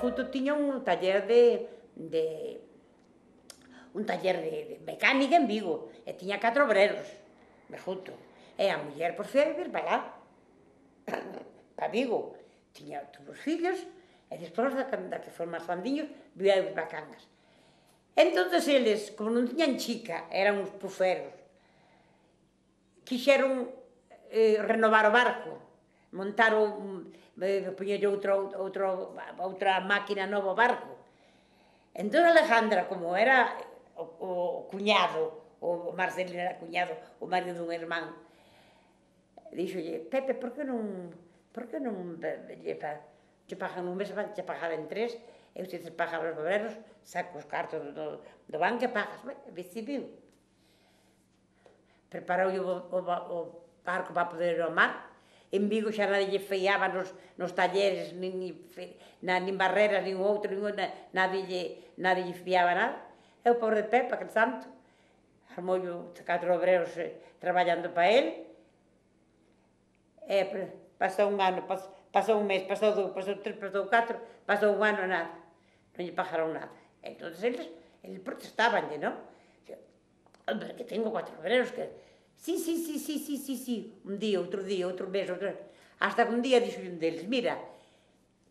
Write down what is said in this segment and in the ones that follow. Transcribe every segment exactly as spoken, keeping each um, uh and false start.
Mejuto tiña un taller de, de un taller de, de mecánica en Vigo, e tiña catro obreros, Mejuto. E a muller, pois, foi a vivir para lá, para Vigo. Tiña os fillos, e despois, da, da que foron máis grandiños, viu a vivir para Cangas. Entón, eles, como non tiñan chica, eran uns puferos, quixeron eh, renovar o barco, montaron, eh, poñerlle outra máquina nova ao barco. Entón, Alejandra, como era o, o cuñado, o Marcelino era cuñado, o marido dun irmán, dixolle, Pepe, por que non, por que non lle pagan un mes, lle pagar en tres, e usted se paga os obreros, saca os cartos do, do banco e pagas. Decidiu. Preparou o, o, o barco para poder ir ao mar. En Vigo xa nadie lle fiaba nos, nos talleres, nin, nin barreras, nin outro, nin, nadie, lle, nadie lle fiaba nada. E o pobre Pepe, aquel santo, armou catro obreros eh, traballando para él. E pasou un ano, pasou, pasou un mes, pasou dous, pasou tres, pasou catro, pasou un ano, nada. Non lle pagaron nada. Entón, eles, eles protestaban, non? Hombre, que tengo cuatro obreros que... Sí, sí, sí, sí, sí, sí, sí. Un día, outro día, outro mes, outro... Hasta que un día dixo un deles, mira,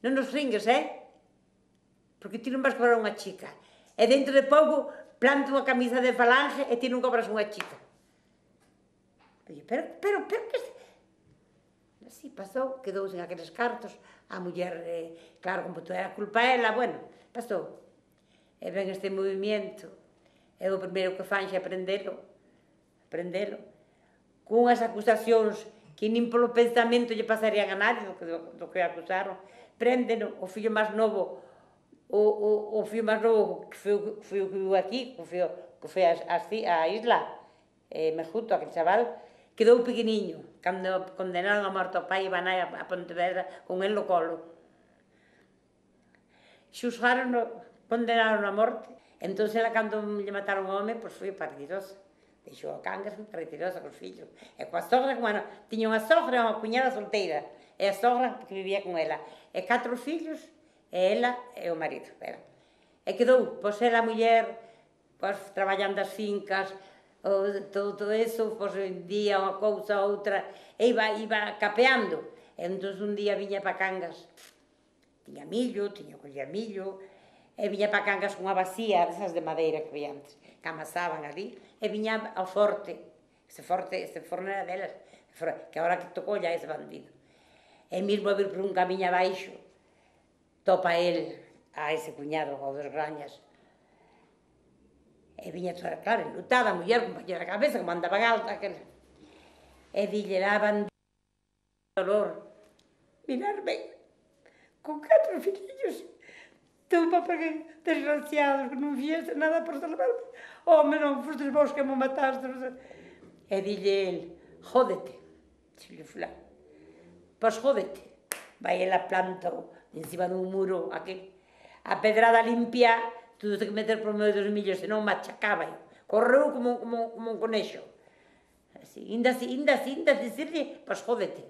non nos ringues, eh? Porque ti non vas cobrar unha chica. E dentro de pouco planto unha camisa de falange e ti non cobras unha chica. Pero, pero, pero, que... Así pasou, quedou sen aqueles cartos, a muller, eh, claro, como toda era culpa ela, bueno, pasou. E ven este movimento, e o primeiro que fan xa aprendelo, aprendelo, con unhas acusacións que nin polo pensamento lle pasarían a nadie do que, do que acusaron, prendeno, o fillo máis novo, o, o, o fillo máis novo que foi, foi o que viu aquí, que foi, que foi a, a, a isla, eh, Mejuto, aquel chaval, quedou pequeniño, cando condenaron a morte ao pai e van a, a Pontevedra con el no colo. Xusgaron, condenaron a morte, entón, ela, cando lle mataron o home, pois foi partidosa. Deixou a Cangas, foi partidosa cos fillos. E coa sogra, como ano, tiña unha sogra e unha cuñada solteira, e a sogra que vivía con ela. E catro fillos, e ela e o marido. Era. E quedou, pois, ela a muller, pois, traballando as fincas, o, todo, todo eso, pois, un día unha cousa, outra, e iba, iba capeando. E entón, un día viña para Cangas, tiña millo, tiña coller millo, e viña para Cangas cunha vacía, desas de madeira que había antes, que amasaban ali, e viña ao forte, ese forte, ese forno era delas, que agora que tocou ya ese bandido. E mesmo a vir por un camiño abaixo, topa el a ese cuñado, ao dos Grañas, e viña toda, claro, enlutada, a muller, con paño na cabeza, como andaban alta, aquel... e dille la bandido, dolor, mirarme, con catro filillos, teu papá que desgraciados, que non fixeste nada por salvarme. Home, non fostes vos que me mataste. E dille el, jódete, dixo fulano. Pois jódete. Vai ela planta encima dun muro, aquel, a pedrada limpia, tudo que meter por medio dos millos, senón machacaba. Correu como, como, como un conexo. Así, inda así, inda así, inda así, pois jódete.